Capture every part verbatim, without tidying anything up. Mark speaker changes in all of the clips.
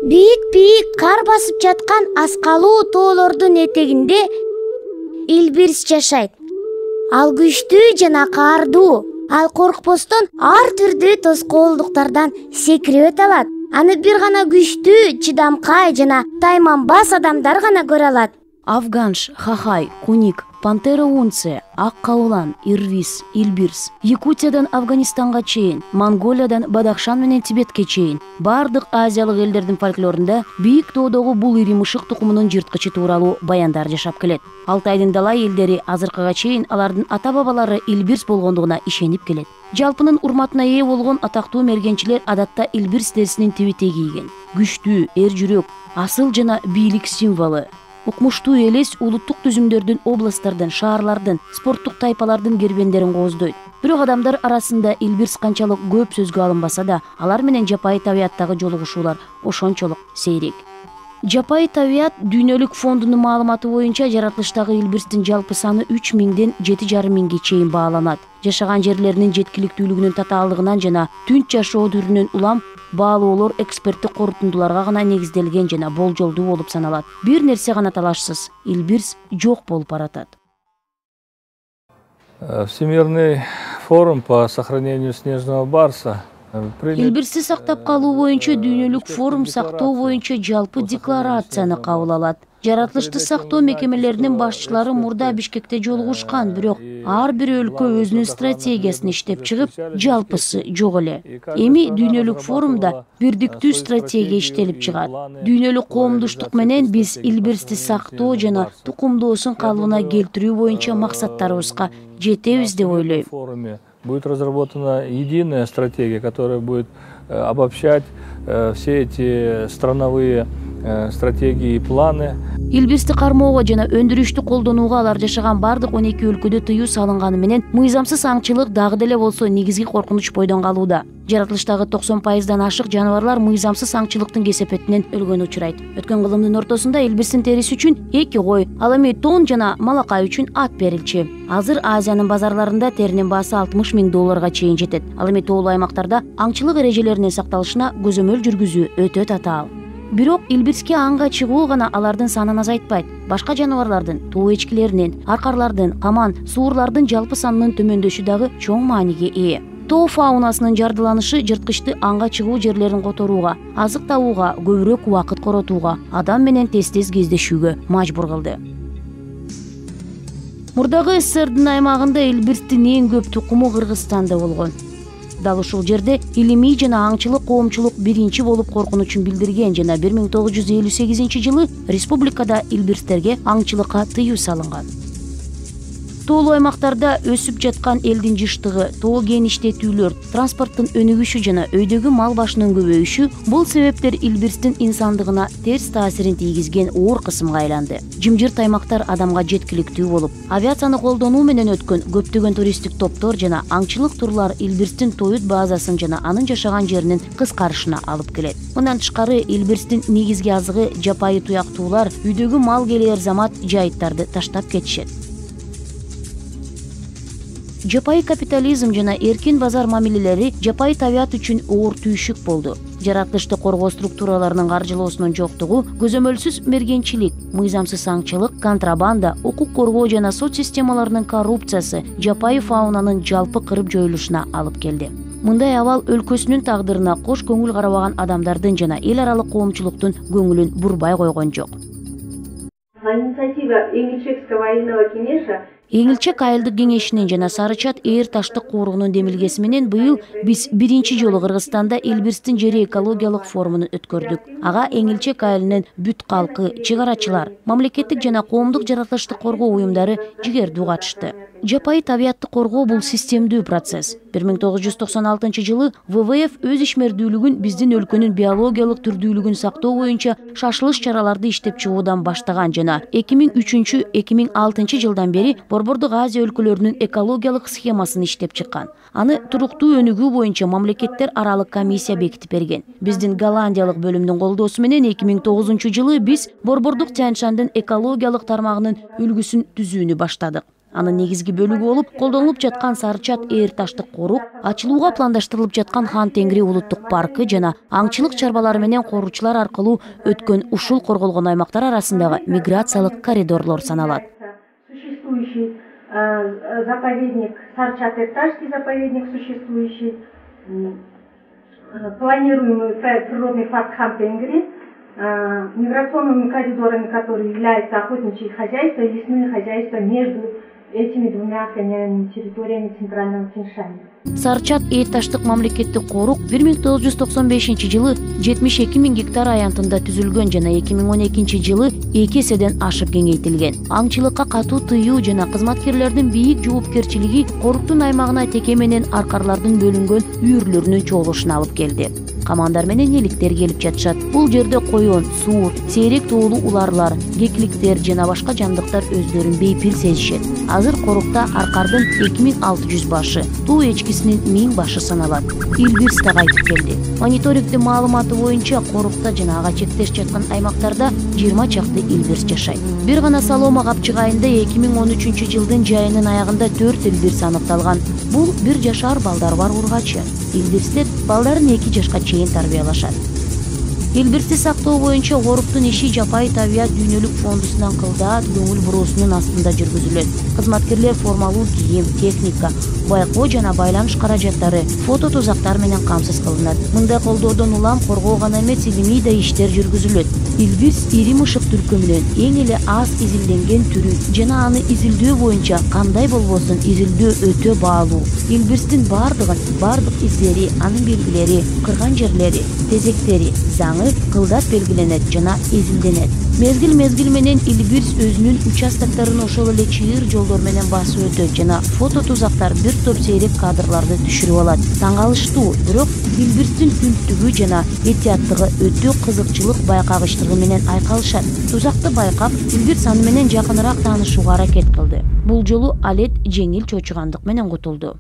Speaker 1: Бийик-бийик кар басып жаткан аскалуу тоолордун этегинде илбирс жашайт. Ал күчтүү жана каардуу. Ал коркпостон ар түрдүү тоскоолдуктардан секирип өтө алат. Аны бир гана күчтүү, чыдамкай жана тайманбас адамдар гана көрө алат.
Speaker 2: Афганш, хахай, куник, пантера унце, ак кабылан, ирвис, илбирс. Якутиядан Афганистанга чейин, Монголиядан Бадахшан менен Тибетке чейин бардык азиялык элдердин фольклорунда бийик тоодогу бул ири мышык тукумунун жырткычы тууралуу баяндар жашап келет. Алтайдын далай элдери азыркыга чейин алардын ата-бабалары илбирс болгондугуна ишенип келет. Жалпынын урматына ээ болгон атактуу мергенчилер адатта илбирс дерисинин тибите кийген. Күчтүү, эр жүрөк, асыл жана бийлик символу. Укмуштуу элес улуттук түзүмдөрдүн, областтардын, шаарлардын, спорттук тайпалардын кербендерин кооздойт. Бирок адамдар арасында илбирс канчалык көп сөзгө алынбаса да, алар менен жапайы табияттагы жолугушуулар ошончолук сейрек. Жапайы табият дүйнөлүк фондунун маалыматы боюнча жаратылыштагы илбирстин жалпы саны үч миңден жети жарым миңге чейин бааланат. Жашаган жерлеринин жеткиликтүүлүгүнүн татаалдыгынан жана түнч жашоо түрүнөн улам баалоолор эксперттик корутундуларга гана негизделген жана болжолдуу болуп саналат. Бир нерсе гана талашсыз, илбирс жок болуп баратат.
Speaker 3: Всемирный форум по сохранению снежного барса.
Speaker 2: Илбирсти сактап калуу боюнча дүйнөлүк форум сактоо боюнча жалпы декларацияны кабыл алат. Жаратылышты сактоо мекемелеринин башчылары мурда Бишкекте жолугушкан, бирок ар бир өлкө өзүнүн стратегиясын иштеп чыгып, жалпысы жок эле. Эми дүйнөлүк форумда бирдиктүү стратегия иштелип чыгат. Дүйнөлүк коомдуштук менен биз илбирсти сактоо жана тукумдоосун калыбына келтирүү боюнча максаттарыбызга жетебиз деп ойлойм.
Speaker 3: Будет разработана единая стратегия, которая будет обобщать все эти страновые стратегии и планы.
Speaker 2: Илбирсти кармоого жана өндүрүштү колдонууга алар жашаган бардык он эки өлкөдө тыюу салынганы менен мыйзамсыз аңчылык дагы деле болсо негизги коркунуч бойдон калууда. Жаратылыштагы токсон пайыздан ашык жаныбарлар мыйзамсыз аңчылыктын кесепетинен өлгөнү учурайт. Өткөн кылымдын ортосунда илбирстин териси үчүн эки кой, ал эми тон жана малакай үчүн ат берилчү. Азыр Азиянын базарларында теринин баасы алтымыш миң долларга чейин жетет. Ал эми тоолуу аймактарда аңчылык эрежелеринин сакталышына көзөмөл жүргүзүү өтө татаал. Бирок илбирске аңга чыгуу гана алардын санын азайтпайт. Башка жаныбарлардын, тоо эчкилеринин, аркарлардын, каман, суурлардын жалпы санынын төмөндөшү дагы чоң мааниге ээ. Тоо фаунасынын жардыланышы жырткычты аңга чыгуу жерлерин которууга, азык табууга, көбүрөөк убакыт коротууга, адам менен тез-тез кездешүүгө мажбур кылды. Мурдагы СССРдин аймагында илбирстин эң көп тукуму Кыргызстанда болгон. Дал ушул жерде илимий жана аңчылык коомчулук биринчи болуп коркунучун билдирген жана бир миң тогуз жүз элүү сегизинчи жылы республикада илбирстерге аңчылыкка тыюу салынган. Тоолуу аймактарда өсүп жаткан элдин жыштыгы, тоо геништетүүлөр, транспорттун өнүгүшү жана өйдөгү мал башынын көбөйүшү бул себептер илбирстин инсандыгына терс таасирин тийгизген оор кысымга айланды. Жымжырт аймактар адамга жеткиликтүү болуп, авиацияны колдонуу менен өткөн көптөгөн туристтик топтор жана аңчылык турлар илбирстин тоют базасын жана анын жашаган жеринин кыскарышына алып келет. Мындан тышкары илбирстин негизги азыгы жапайы туяктуулар, үйдөгү мал келер замат жайыттарды таштап кетишет. Жапайы капитализм жана эркин базар мамилелери жапайы табият үчүн оор түйшүк болду. Жаратылышты коргоо структураларынын каржылоосунун жоктугу, көзөмөлсүз мергенчилик, мыйзамсыз аңчылык, контрабанда, укук коргоо жана сот системаларынын коррупциясы жапайы фаунанын жалпы кырып жоюлушуна алып келди. Мындай абал өлкөсүнүн тагдырына кош көңүл карабаган адамдардын жана эл аралык коомчулуктун көңүлүн бурбай койгон жок.
Speaker 4: Инициатива Эңилчекского айылного кеңеша
Speaker 2: Эңилчек айылдык кеңешинин жана Сарычат ээр таштык кууругунун демилгеси менен быйыл биз биринчи жолу Кыргызстанда илбирстин жери экологиялык форумун өткөрдүк. Ага Эңилчек айылынын бүт калкы, чек арачылар, мамлекеттик жана коомдук жаратылышты коргоо уюмдары жигердүү катышты. Жапайы табиятты коргоо бул системдүү процесс. бир миң тогуз жүз токсон алтынчы жылы вэ вэ эф өз ишмердүүлүгүн биздин өлкөнүн биологиялык түрдүүлүгүн сактоо боюнча шашылыш чараларды иштеп чыгуудан баштаган жана эки миң үчүнчү — эки миң алтынчы жылдан бери Борбордук Азия өлкөлөрүнүн экологиялык схемасын иштеп чыккан. Аны туруктуу өнүгүү боюнча мамлекеттер аралык комиссия бекитип берген. Биздин Голландиялык бөлүмдүн колдоосу менен эки миң тогузунчу жылы биз Борбордук Тянь-Шандын экологиялык тармагынын үлгүсүн түзүүнү баштадык. Анын негизги бөлүгү болуп колдонулуп жаткан Сарычат Ээр таштык корук, ачылууга пландаштырылып жаткан Хан Тенгри улуттук паркы жана аңчылык чарбалары менен коруучулар аркылуу өткөн ушул корголгон аймактар арасындагы миграциялык коридорлор саналат.
Speaker 4: Существующий э, заповедник Сарычат-Эрташский заповедник существующий, э, планируемый проект природный парк Хан Тенгри, э, миграционными коридорами, которые являются охотничьи хозяйства и лесные хозяйства между этими двумя охраняемыми территориями Центрального Тянь-Шаня.
Speaker 2: Сарычат Ээр таштык мамлекеттик корук бир миң тогуз жүз токсон бешинчи жылы жетимиш эки миң гектар аянтында түзүлгөн жана эки миң он экинчи жылы эки эседен ашып кеңейтилген. Аңчылыкка катуу тыюу жана кызматкерлердин бийик жоопкерчилиги коруктун аймагына теке менен аркарлардын бөлүнгөн үйүрлөрүнүн чогулушуна алып келди. Камандар менен эликтер келип жатышат. Бул жерде коён, суур, сейрек тоолуу уларлар, кекликтер жана башка жандыктар өздөрүн бейпил сезишет. Азыр корукта аркардын эки миң алты жүз башы, туу эчкисинин миң башы саналат. Илбирс да кайтып келди. Мониторингдин маалыматы боюнча корукта жана ага чектеш жаткан аймактарда жыйырма чакты илбирс жашайт. Бир гана Салома капчыгайында эки миң он үчүнчү жылдын жайынын аягында төрт илбирс аныкталган. Бул бир жашар балдары бар ургачы. Илбирстер балдарын эки жашка чейин тарбиялашат. Илбирсти сактоо боюнча коруктун иши жапайы табият дүйнөлүк фондусунан кылдаат көңүл буруусунун астында жүргүзүлөт. Кызматкерлер формалуу кийим, техника, байкоо жана байланыш каражаттары, фото тузактар менен камсыз кылынат. Мындай колдоодон улам коргоо гана эмес, илимий да иштер жүргүзүлөт. Илбирс ири мышык түркүмүнөн эң эле аз изилденген түрү жана аны изилдөө боюнча кандай болбосун изилдөө өтө баалуу. Илбирстин бардыгын, бардык издери, анын белгилери, кырган жерлери, тезектери, заңы кылдат белгиленет жана изилденет. Мезгил мезгил менен илбирс өзүнүн участокторун ошол эле чыйыр жолдор менен басып өтөт жана фото тузактар бир топ сейрек кадрларды түшүрүп алат. Таң калыштуу, бирок илбирстин үнттүгү жана этияттыгы өтө кызыкчылык байкагычтыгы менен айкалышат. Тузакты байкап, илбирс аны менен жакыныраак таанышууга аракет кылды. Бул жолу алет жеңил чочугандык менен кутулду.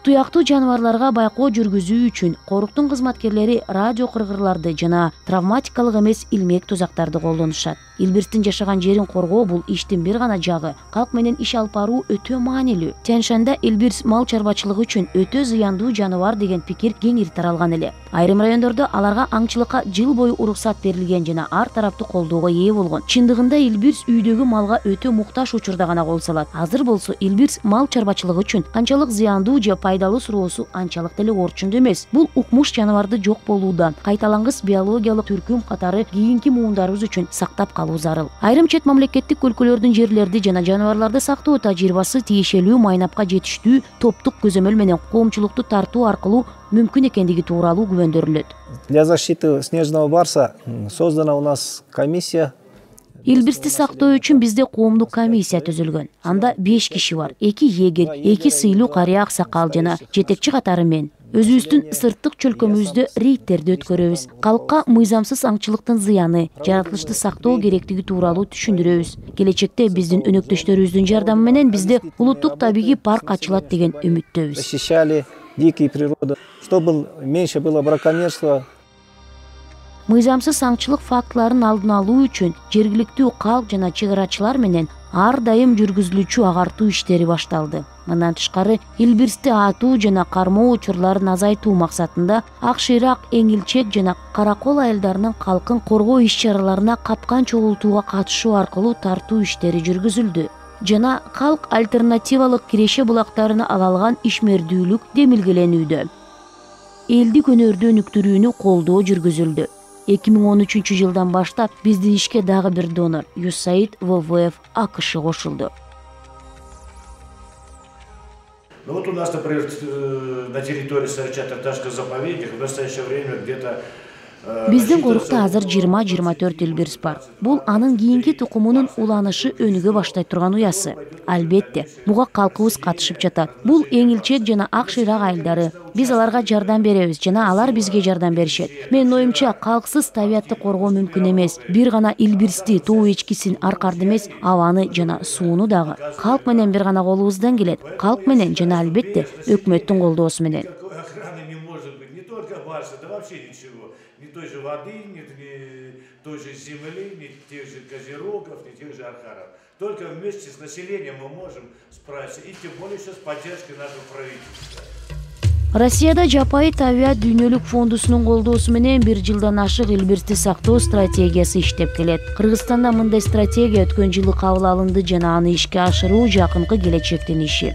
Speaker 2: Туяктуу жаныбарларга байкоо жүргүзүү үчүн коруктун кызматкерлери радио кыргырларды жана травматикалык эмес илмек тузактарды колдонушат. Илбирстин жашаган жерин коргоо бул иштин бир гана жагы. Калк менен иш алып баруу өтө маанилүү. Тянь-Шанда илбирс мал чарбачылыгы үчүн өтө зыяндуу жаныбар деген пикир кеңири таралган эле. Айрым райондордо аларга аңчылыкка жыл бою уруксат берилген жана ар тараптуу колдоого ээ болгон. Чындыгында илбирс үйдөгү малга өтө муктаж учурда гана кол салат. Азыр болсо илбирс мал чарбачылыгы үчүн канчалык зыяндуу же пайдалуу суроосу анчалык деле орчундуу эмес. Бул укмуш жаныбарды жок болуудан, кайталангыс биологиялык түркүм катары кийинки муундарыбыз үчүн сактап калуу зарыл. Айрым чет мамлекеттик өлкөлөрдүн жерлерди жана жаныбарларды сактоо тажрыйбасы тиешелүү майнапка жетиштүү топтук көзөмөл менен коомчулукту тартуу аркылуу мүмкүн экендиги тууралуу күбөндөрүлөт.
Speaker 5: Для защиты снежного барса создана у нас комиссия.
Speaker 2: Илбирсти сактоо үчүн бизде коомдук комиссия түзүлгөн. Анда беш киши бар. эки эгер, эки сыйлуу карыя аксакал жана жетекчи катары мен. Өзүбүздүн сырттык чөлкөмүбүздө рейдтерди өткөрөбүз. Калкка мыйзамсыз аңчылыктын зыяны, жаратылышты сактоо керектиги тууралуу түшүндүрөбүз. Келечекте биздин өнөктөштөрүбүздүн жардамы менен бизде улуттук табигый парк ачылат деген үмүттөбүз.
Speaker 5: Защищали дикие природы, чтобы меньше было браконьерства.
Speaker 2: Мыйзамсыз аңчылык фактыларын алдын алуу үчүн жергиликтүү калк жана чек арачылар менен ар дайым жүргүзүлүүчү агартуу иштери башталды. Мындан тышкары илбирсти атуу жана кармоо учурларын азайтуу максатында ак шыйрак, эңилчек жана каракол айылдарынын калкын коргоо иш-чараларына капкан чогултууга катышуу аркылуу тартуу иштери жүргүзүлдү жана калк альтернативалык киреше булактарына ала алган ишмердүүлүк демилгеленүүдө. Элдик өнөрдү өнүктүрүүнү колдоо жүргүзүлдү. эки миң он үчүнчү жылдан баштап биздин ишке дагы бир донор ю эс эй ай ди вэ вэ эф АКШ кошулду.
Speaker 6: Ну вот у нас, например, на территории Сарычат-Эрташского заповедника в настоящее время где-то
Speaker 2: Биздин корукта азыр жыйырма жыйырма төрт илбирс бар. Бул анын кийинки тукумунун уланышы өнүгө баштай турган уясы. Албетте, буга калкыбыз катышып жатат. Бул эңилчек жана ак шыйрак айылдары. Биз аларга жардам беребиз жана алар бизге жардам беришет. Менин оюмча, калксыз табиятты коргоо мүмкүн эмес. Бир гана илбирсти, тоо эчкисин, аркарды эмес, абаны жана сууну дагы. Калк менен бир гана колубуздан келет. Калк менен жана албетте өкмөттүн колдоосу менен.
Speaker 6: Да вообще ничего. Ни той же воды, ни той же земли, ни тех же козерогов, ни тех же архаров. Только вместе с населением мы можем справиться, и тем более еще с поддержкой нашего правительства.
Speaker 2: Россияда жапайы табиат дүйнөлүк фондусунун колдоосу менен бир жылдан ашык илбирсти сактоо стратегиясы иштеп келет. Кыргызстанда мындай стратегия өткөн жылы кабыл алынды жана аны ишке ашыруу жакынкы келечектин иши.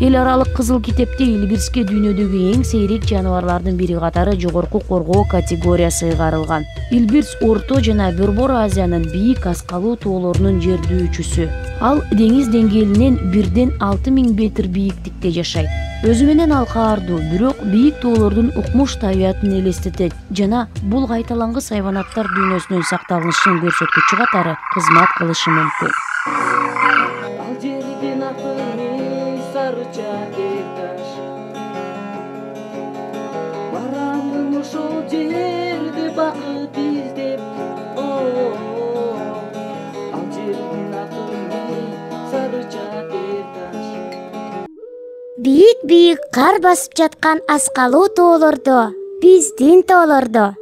Speaker 2: Эл аралык кызыл китепте илбирске дүйнөдөгү эң сейрек жаныбарлардын бири катары жогорку коргоо категориясы ыйгарылган. Илбирс Орто жана Борбор Азиянын бийик аскалуу тоолорунун жердүүчүсү. Ал деңиз деңгээлинен бирден алты миң метр бийиктикте жашайт. Өзү менен ал каардуу, бирок бийик тоолордун укмуш табиатын элестетет жана бул кайталангыс хайванаттар дүйнөсүнүн сакталышын көрсөткүчү катары кызмат кылышы мүмкүн.
Speaker 7: Барамын ошол жерде бакыт издеп, ал жердин аты Сарыча тер таш.
Speaker 1: Бийик-бийик кар басып жаткан аскалуу тоолордо, биздин тоолордо